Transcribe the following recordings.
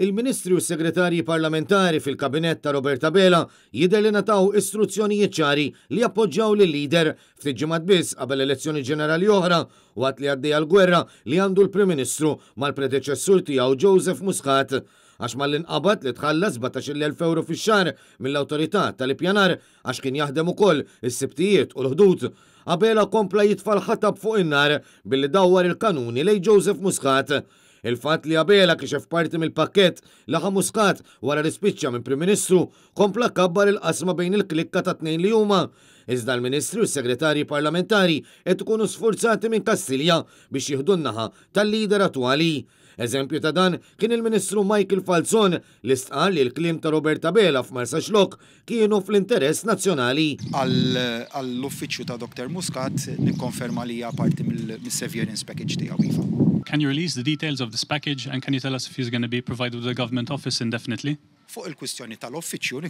Il-Ministri u s-Segretarji Parlamentari fil-Kabinett ta' Robert Abela jidher li ngħataw istruzzjonijiet ċari li jappoġġjaw lil-leader ftit ġimgħat biss qabel elezzjoni ġenerali oħra waqt li għaddejja l-gwerra li għandu l-Prim Ministru mal-predeċessur tiegħu Joseph Muscat għax malli nqabad li tħallas €17,000 fix-xahar mill-Awtorità tal-Ippjanar għax kien jaħdem ukoll is-Sibtijiet u l-Ħdud. Abela kompla jitfa' l-ħatab fuq in-nar billi dawwar il-kanuni lejn Joseph Muscat. Il-fatt li Abela kixef parti mill-pakkett li ħa Muscat wara li spiċċa minn Prim Ministru kompla kabbar il-qasma bejn il-klikka tat-tnejn li huma. Iżda l-Ministri u s-Segretarji Parlamentari qed ikunu sfurzati minn Kastilja biex jieħdu n-naħa tal-leader attwali. Eżempju ta' dan kien il-Ministru Michael Falzon li stqarr li l-kliem ta' Robert Abela f'Marsaxlokk kienu fl-interess nazzjonali. Għall-uffiċċju ta' Doctor Muscat nikkonferma li hija parti mis-severance package tiegħu iva. Can you release the details of this package and can you tell us if he's gonna be provided with a government office indefinitely? Fuq il-kwistjoni tal-uffiċċju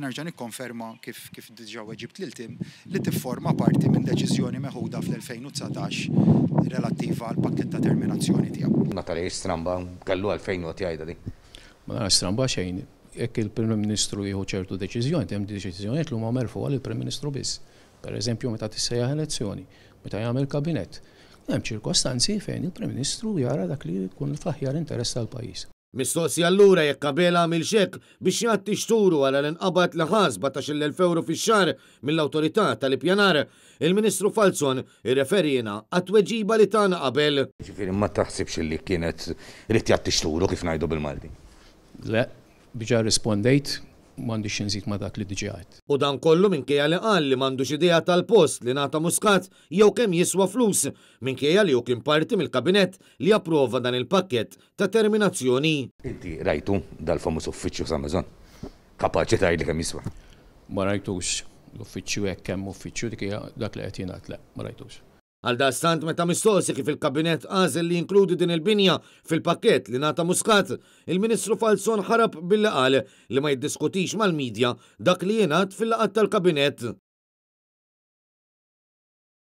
nerġa' nikkonferma kif kif diġà weġibt lil Tim li tifforma parti minn deċiżjoni meħuda fl-2019 relattiva għall-pakkett ta' terminazzjoni tiegħu. Ma tarahiex stramba, kellu għalfejn joqgħod jgħidha din. Ma narax stramba xejn. Jekk il-Prim Ministru jieħu ċertu deċiżjoni, hemm deċiżjonijiet li huma merfugħa lill-Prim Ministru biss. Per eżempju meta tissejjaħ elezzjoni, meta jagħmel kabinett. Hemm ċirkostanzi fejn il-Prim Ministru jara dak li jkun fl-aħjar interess tal-pajjiż. Mistoqsi allura jekk Abela għamilx hekk biex jgħatti xturu wara li nqabad li ħa €17,000 fix-xahar mill-Awtorità tal-Ippjanar, il-Ministru Falzon irreferiena għat-tweġiba li tana qabel. Jiġifieri ma taħsibx li kienet ried jgħatti xturu kif ngħidu bil-Malti? Le, diġà rrispondejt, m'għandix xi nżid ma' dak li diġà għedt. U dan kollu minkejja li qal li m'għandux idea tal-post li ngħata Muscat jew kemm jiswa flus, minkejja li hu kien parti mill-Kabinett li approva dan il-pakkett ta' terminazzjoni. Inti rajtu dal-famuż uffiċċju sa Maison? Kapaċi tgħidli kemm jiswa? Ma rajtux l-uffiċċju hekk hemm uffiċċju dik hija dak li qed jingħad le, ma rajtux. Għaldaqstant meta mistoqsi kif il-Kabinett għażel li jinkludi din il-binja fil-pakkett li ngħata Muscat, il-Ministru Falzon ħarab billi qal li ma jiddiskutix mal-media dak li jingħad fil-laqgħat tal-Kabinett.